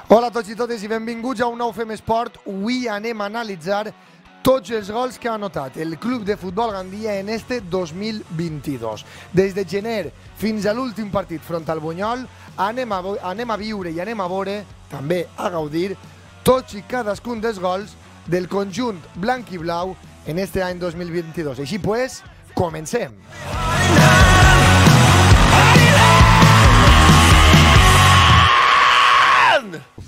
Hola a tots i totes i benvinguts a un nou Fem Esport. Avui anem a analitzar tots els gols que ha anotat el Club de Futbol Gandia en este 2022. Des de gener fins a l'últim partit front al Bunyol anem a viure i anem a veure, també a gaudir, tots i cadascun dels gols del conjunt blanc i blau en este any 2022. Així pues, comencem!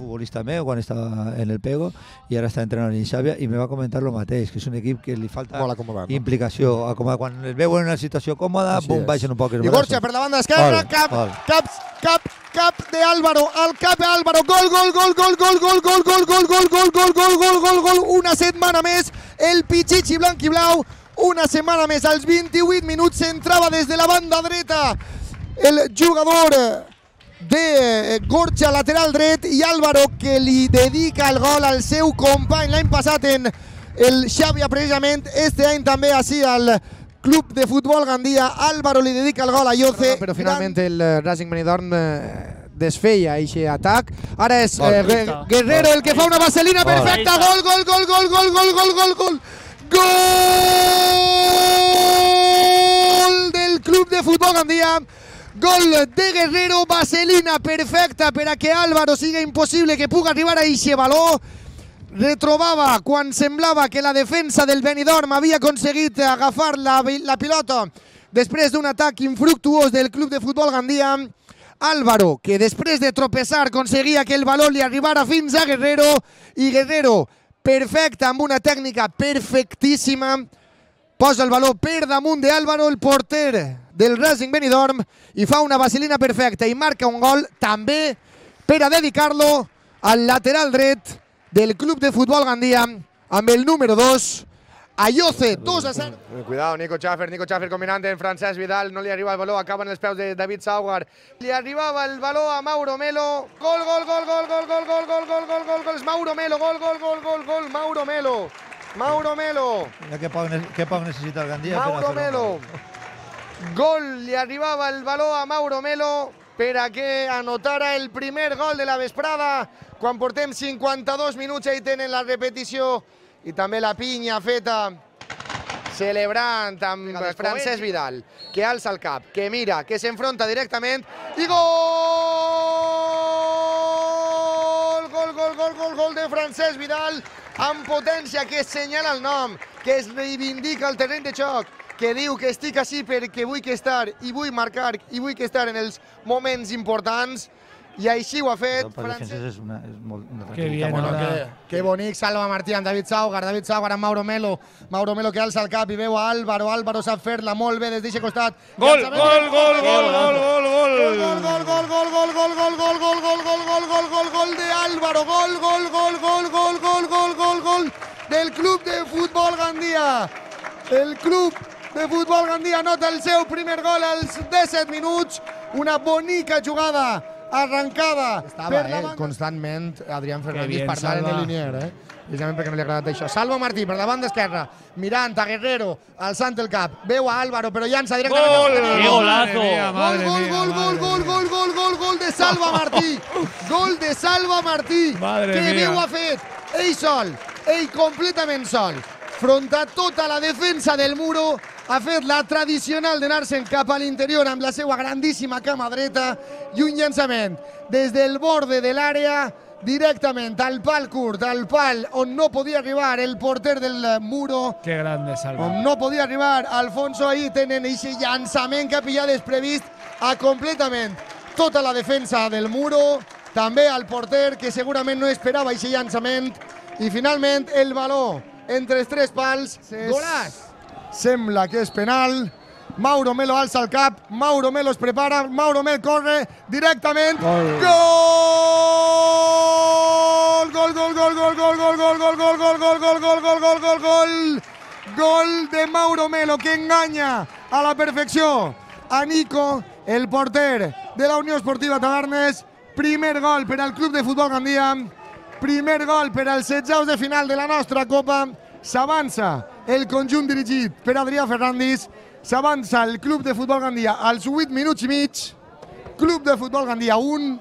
Futbolista meu quan estava en el Pego i ara està entrenant en Xàbia i me va comentar lo mateix, que és un equip que li falta implicació, quan el veuen en una situació còmoda, bum, baixen un poc els braços. I Gorcha per la banda esquerra, cap de Álvaro, al cap de Álvaro, gol, una setmana més, el Pichichi blanc i blau, una setmana més, als 28 minuts s'entrava des de la banda dreta el jugador de Gorcha, lateral dret, i Álvaro, que li dedica el gol al seu company l'any passat en el Xàbia, precisament, este any també així al Club de Futbol Gandia. Álvaro li dedica el gol a Yoce. Però finalment el Racing Benidorm desfeia aquest atac. Ara és Guerrero el que fa una vaselina perfecta. Gol del Club de Futbol Gandia. Gol de Guerrero, vaselina perfecta per a que Álvaro siga impossible que pugui arribar a aquest valor. Retrobava quan semblava que la defensa del Benidorm havia aconseguit agafar la pilota després d'un atac infructuós del Club de Futbol Gandia. Álvaro, que després de tropeçar aconseguia que el valor li arribara fins a Guerrero, i Guerrero, perfecte, amb una tècnica perfectíssima, posa el valor per damunt d'Álvaro, el porter del Racing Benidorm, i fa una vaselina perfecta i marca un gol també per a dedicar-lo al lateral dret del Club de Futbol Gandia amb el número 2, a Yoce, 2-0. Cuidado, Nico Schaffer combinant en Francesc Vidal, no li arriba el valor, acaba en els peus de David Saugar. Li arribava el valor a Mauro Melo, gol, és Mauro Melo, gol, Mauro Melo. Què poc necessita el Gandia? Mauro Melo. Gol, li arribava el valor a Mauro Melo per a que anotara el primer gol de la vesprada. Quan portem 52 minuts i tenen la repetició i també la pinya feta celebrant amb Francesc Vidal, que alça el cap, que mira, que s'enfronta directament i gol de Francesc Vidal amb potència, que senyala el nom, que es reivindica el terreny de joc, que diu que estic així perquè vull que estar i vull marcar i vull que estar en els moments importants, i així ho ha fet. Que bonic, Salva Martí amb David Saugar amb Mauro Melo que alça el cap i veu a Álvaro sap fer-la molt bé des d'aquest costat. Gol de Álvaro, gol del Club de Futbol Gandia. El Club de Futbol Gandia anota el seu primer gol als 17 minuts, una bonica jugada arrancada. Estava constantment Adrián Fernández parlant en el linier, precisament perquè no li ha agradat això. Salva Martí per la banda esquerra, mirant a Guerrero, alçant el cap, veu a Álvaro, però llança directament. Gol de Salva Martí. Gol de Salva Martí. Que bé ho ha fet. Ell sol, ell completament sol. Front a tota la defensa del Muro, ha fet la tradicional d'anar-se'n cap a l'interior amb la seva grandíssima cama dreta i un llançament des del borde de l'àrea directament al pal curt, al pal on no podia arribar el porter del Muro. Que grande Salva. On no podia arribar Alfonso. Ahí tenen aquest llançament que ha pillat desprevist a completament tota la defensa del Muro, també al porter, que segurament no esperava aquest llançament, i finalment el valor entre els tres pals. Golaç! Sembla que és penal. Mauro Melo alça el cap, Mauro Melo es prepara, Mauro Melo corre directament. Gol! Gol de Mauro Melo, que enganya a la perfecció a Nico, el porter de la Unió Esportiva Tavernes. Primer gol per al Club de Futbol Gandia, primer gol per als 16 de final de la nostra Copa. S'avança el conjunt dirigit per Adrià Fernández, s'avança el Club de Futbol Gandia als 8 minuts i mig. Club de Futbol Gandia 1,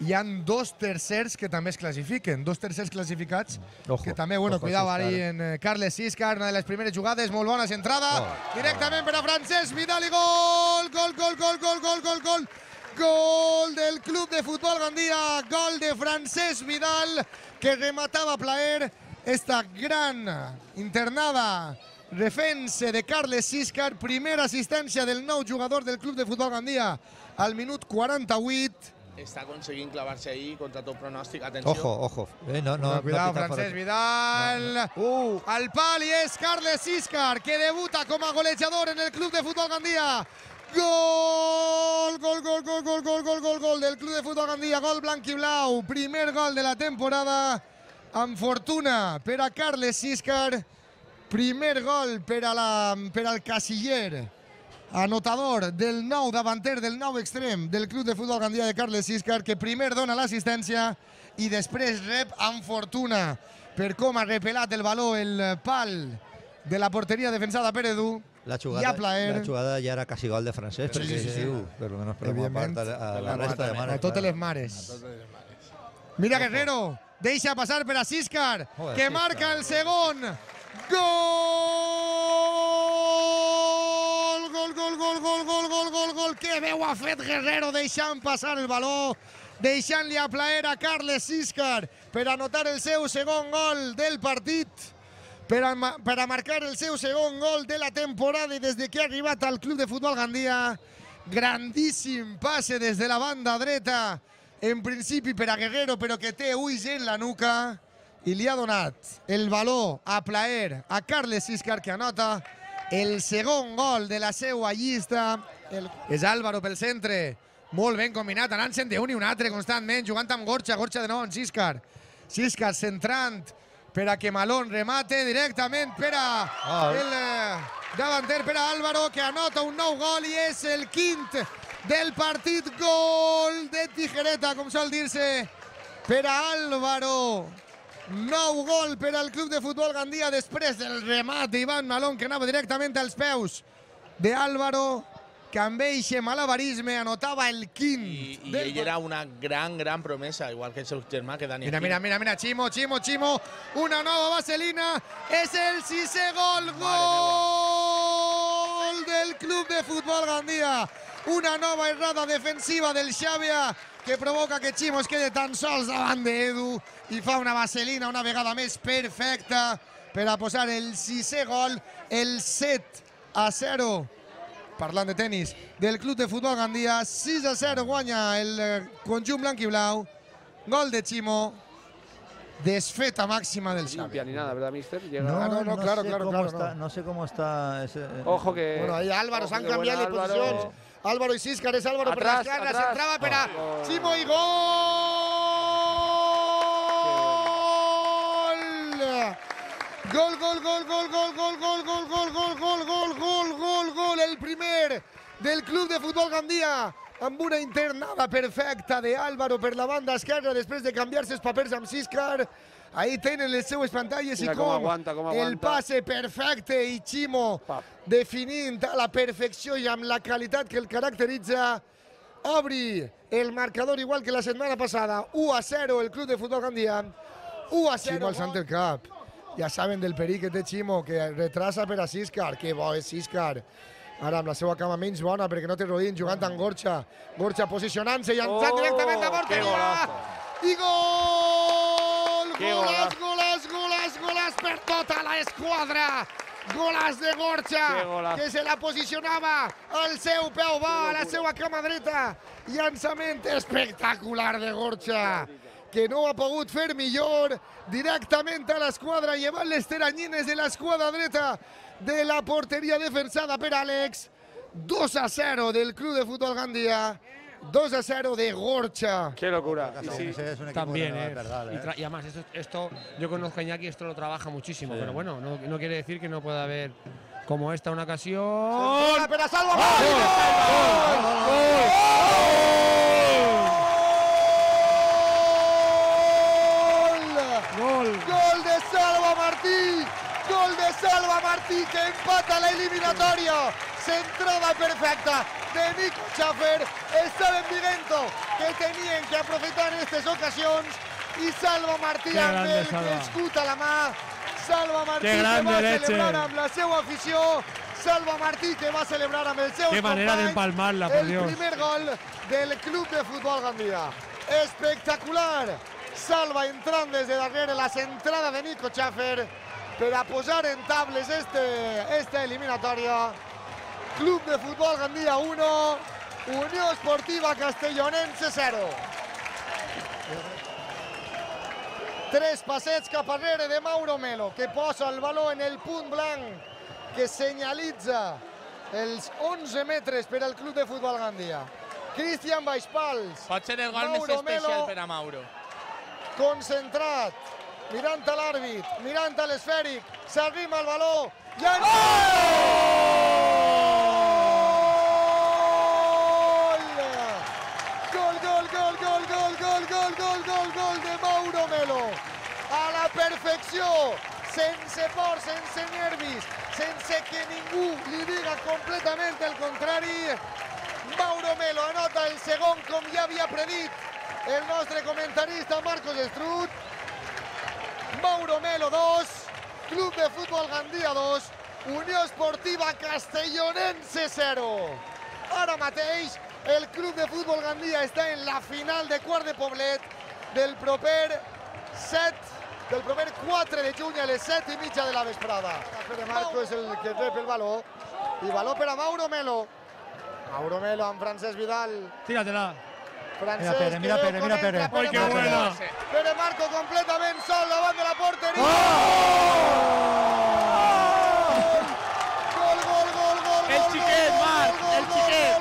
hi ha 2 tercers que també es classifiquen, 2 tercers classificats que també, bueno, cuidado ahí en Carles Siscar, una de les primeres jugades, molt bona centrada, directament per a Francesc Vidal i gol, gol del Club de Futbol Gandia, gol de Francesc Vidal, que rematava plaer esta gran internada defensa de Carles Siscar, primera assistència del nou jugador del Club de Futbol Gandia al minut 48. Està aconseguint clavar-se ahí contra tot pronòstic. Atenció. Ojo. Cuidado, Francesc Vidal. Al pal i és Carles Siscar, que debuta com a golejador en el Club de Futbol Gandia. Gol del Club de Futbol Gandia, gol blanc i blau. Primer gol de la temporada, amb fortuna per a Carles Siscar. Primer gol per al casiller anotador del nou davanter, del nou extrem del Club de Futbol Gandia de Carles Siscar, que primer dona l'assistència i després rep amb fortuna per com ha repelat el valor el pal de la porteria defensada per Edu. La jugada ja era quasi gol de Francesc, per lo menos per la part a la resta de mares. A totes les mares. Mira Guerrero, deixa passar per a Siscar, que marca el segon. Gol, que veu ha fet Guerrero deixant passar el valor, deixant-li a plaer a Carles Siscar per anotar el seu segon gol del partit, per a marcar el seu segon gol de la temporada i des que ha arribat al Club de Futbol Gandia. Grandíssim passe des de la banda dreta, en principi per a Guerrero, però que té ulls en la nuca, i li ha donat el valor a plaer a Carles Siscar, que anota el segon gol de la seva llista. És Álvaro pel centre, molt ben combinat, anant-se'n d'un i un altre constantment, jugant amb Gorcha de nou en Siscar. Siscar centrant per a que Malón remate directament per a el davanter, per a Álvaro, que anota un nou gol i és el quint del partit. Gol de tijereta, com sol dir-se, per a Álvaro. Nou gol per al Club de Futbol Gandia després del remat d'Ivan Malón, que anava directament als peus d'Álvaro, que amb eixe malabarisme anotava el quint. I ell era una gran promesa, igual que el seu germà, que Dani. Mira, Chimo, una nova vaselina, és el 6è gol, gol del Club de Futbol Gandia. Una nova errada defensiva del Xàbia, que provoca que Chimo es quede tan sols davant d'Edu i fa una vaselina una vegada més perfecta per a posar el 6è gol, el 7-0, parlant de tenis, del Club de Futbol Gandia. 6-0 guanya el conjunt blanc i blau. Gol de Chimo. Desfeta máxima del Xavi. Limpia ni nada, ¿verdad, mister? No, claro. No sé cómo está ese... Ojo que... Bueno, ahí Álvaro, se han cambiado de posicions. Álvaro i Siscar, és Álvaro per l'esquerra, s'entrava per a Chimo i gol! Gol, el primer del Club de Futbol Gandia, amb una internada perfecta de Álvaro per la banda esquerra després de canviar-se els papers amb Siscar. Ahí tenen les seues pantalles i com el passe perfecte i Chimo definint a la perfecció i amb la qualitat que el caracteritza. Obri el marcador igual que la setmana passada. 1-0 el Club de Futbol Gandia. 1-0 Chimo al Center Cup. Ja saben del perill que té Chimo, que retrasa per a Siscar. Que bo és Siscar. Ara amb la seva cama menys bona perquè no té rodint, jugant amb Gorcha. Gorcha posicionant-se i entrant directament a porteria. I gol! Golàs per tota l'esquadra. Golàs de Gorcha, que se la posicionava al seu peu va, a la seva cama dreta. Llançament espectacular de Gorcha, que no ha pogut fer millor, directament a l'esquadra, llevant les teranyines de l'esquadra dreta de la porteria defensada per Àlex. 2-0 del Club de Futbol Gandia. 2-0 de Gorcha. Qué locura. Sí, también, y además, esto yo conozco a Iñaki, esto lo trabaja muchísimo, pero bueno, no quiere decir que no pueda haber como esta una ocasión. ¡Pero Salva! ¡Gol de Salva Martí! ¡Gol de Salva Martí, que empata la eliminatoria! Centrada perfecta de Nico Schaffer. Está en Vigento que tenien que aprofitar en aquestes ocasions, i Salva Martí amb el escut a la mà, Salva Martí que va celebrar amb la seva afició, Salva Martí que va celebrar amb els seus companys el primer gol del Club de Futbol Gandia. Espectacular! Salva entrant des de darrere la centrada de Nico Schaffer per a posar en tables esta eliminatòria. Club de Futbol Gandia 1, Unió Esportiva Castellonense 0. 3 passets cap arrere de Mauro Melo, que posa el valor en el punt blanc, que senyalitza els 11 metres per al Club de Futbol Gandia. Cristian Baixpals. Pot ser el gol més especial per a Mauro. Concentrat, mirant a l'àrbit, mirant a l'esfèric, s'arrima el valor i gol! Gol de Mauro Melo. A la perfecció, sense por, sense nervis, sense que ningú li diga completament el contrari. Mauro Melo anota el segon, com ja havia predit el nostre comentarista Marcos Estrut. Mauro Melo 2, Club de Futbol Gandia 2, Unió Esportiva Castellonense 0. Ara mateix el Club de Futbol Gandia està en la final de quart de poblet del proper 4 de juny a les 7:30 de la vesprada. Pere Marco és el que rep el valor, i valor per a Mauro Melo. Mauro Melo amb Francesc Vidal. Tíratela. Francesc, mira Pere. ¡Ay, qué buena! Pere Marco completament sol davant de la porteria. Gol! El xiquet, Marc, el xiquet.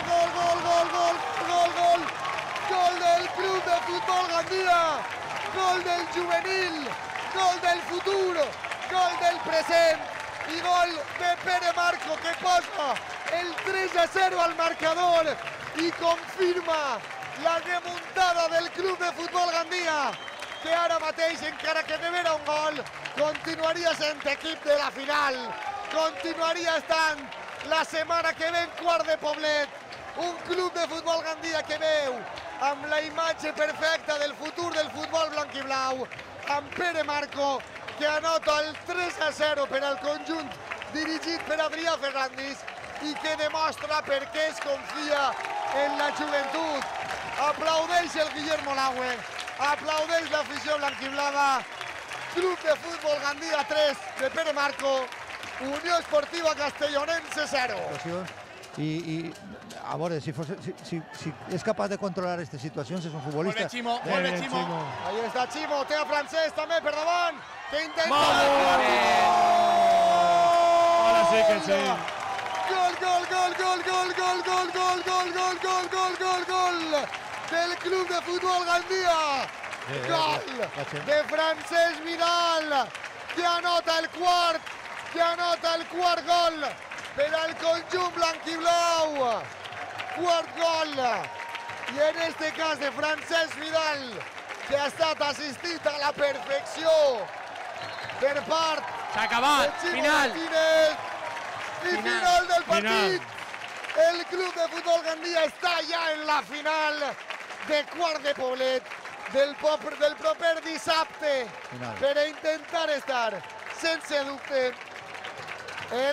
Gol del Club de Futbol Gandia. Gol del juvenil. Gol del futur. Gol del present. I gol de Pere Marco, que posa el 3-0 al marcador i confirma la remuntada del Club de Futbol Gandia, que ara mateix, encara que rebera un gol, continuaria sent equip de la final, continuaria estant la setmana que ve en quart de poblet, un Club de Futbol Gandia que veu amb la imatge perfecta del futur del futbol blanquiblau, amb Pere Marco, que anota el 3-0 per al conjunt dirigit per Adrià Ferrandis i que demostra per què es confia en la joventut. Aplaudeix el Guillermo Laue, aplaudeix l'afició blanquiblada. Club de Futbol Gandia 3 de Pere Marco, Unió Esportiva Castellonense 0. I a veure, si és capaç de controlar aquestes situacions, és un futbolista. Molt bé, Ximo. Ahí està Ximo, té a Francesc també per davant, que intenta... Ahora sí que sí. Gol del Club de Futbol Gandia. Gol de Francesc Vidal, que anota el quart gol per al conjunt blanquiblau. Quart gol. I en este cas de Francesc Vidal, que ha estat assistit a la perfecció per part de Ximo Martínez. I final del partit. El Club de Futbol Gandia està ja en la final de quart de poblet del proper dissabte per a intentar estar, sense dubte,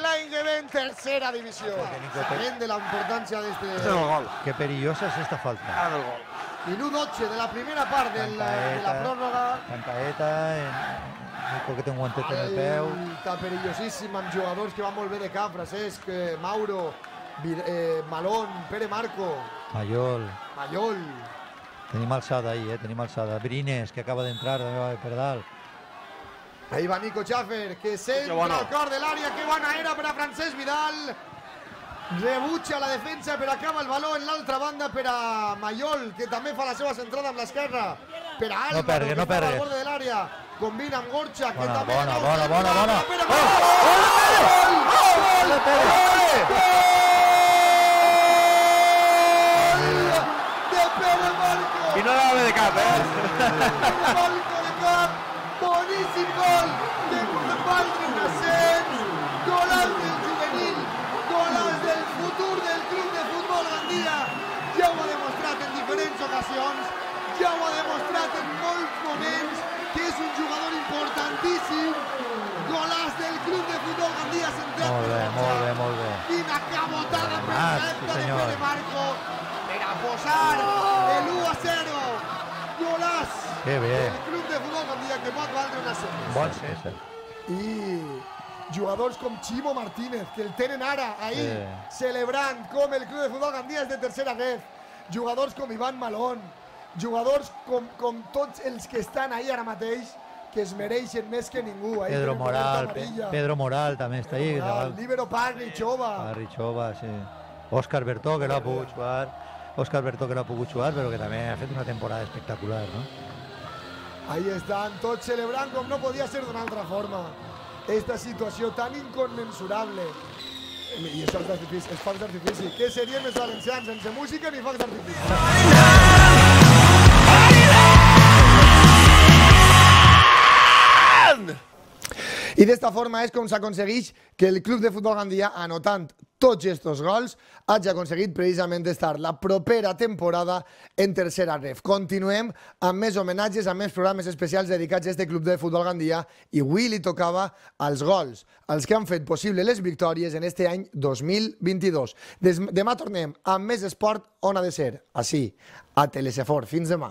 l'any que ve en tercera divisió. Sabent de la importància d'este gol. Que perillosa és esta falta. Minut 12 de la primera part de la pròrroga. Cantaeta, Nico que té un guantet en el peu. Està perillosíssim amb jugadors que van molt bé de cap, Francesc, Mauro, Malón, Pere Marco. Mayol. Tenim alçada ahí, tenim alçada. Brines, que acaba d'entrar per dalt. Ahí va Nico Schaffer, que centra al cor de l'àrea. Que bona era per a Francesc Vidal. Rebutja la defensa, però acaba el valor en l'altra banda per a Mayol, que també fa la seva centrada amb l'esquerra. Per a Álvaro, que fa al borde de l'àrea. Combina amb Gorcha, que també... Bona. Gol de Pere Marco. I no anava bé de cap, Marco de cap. Boníssim gol de Valtre Nassens. Golaç del juvenil. Golaç del futur del Club de Futbol Gandia. Ja ho ha demostrat en diferents ocasions. ocasions, ja ho ha demostrat en molts moments, que és un jugador importantíssim. Golaç del Club de Futbol Gandia centrat. Molt bé. Quina cabotada perfecta de Pere Marco per a posar l'1-0. Golaç del Club de Futbol Gandia que pot valdre una sèrie. Bon ser. I jugadors com Chimo Martínez, que el tenen ara, ahir, celebrant com el Club de Futbol Gandia és de tercera ref. Jugadors com Ivan Malón, jugadors com tots els que estan ahí ara mateix, que es mereixen més que ningú. Pedro Moral també està ahí. Líbero Parrichova, sí. Óscar Bertó, que no ha pogut jugar. Però que també ha fet una temporada espectacular, no? Ahí estan, tots celebrant com no podia ser d'una altra forma. Esta situació tan inconmensurable. I això és focs d'artifici. Què serien els valencians sense música ni focs d'artifici? I d'esta forma és com s'aconsegueix que el Club de Futbol Gandia, anotant tots aquests gols, hagi aconseguit precisament estar la propera temporada en tercera ref. Continuem amb més homenatges, amb més programes especials dedicats a aquest Club de Futbol Gandia, i avui li tocava als gols, els que han fet possible les victòries en este any 2022. Demà tornem amb més esport on ha de ser, així, a Telesfort. Fins demà.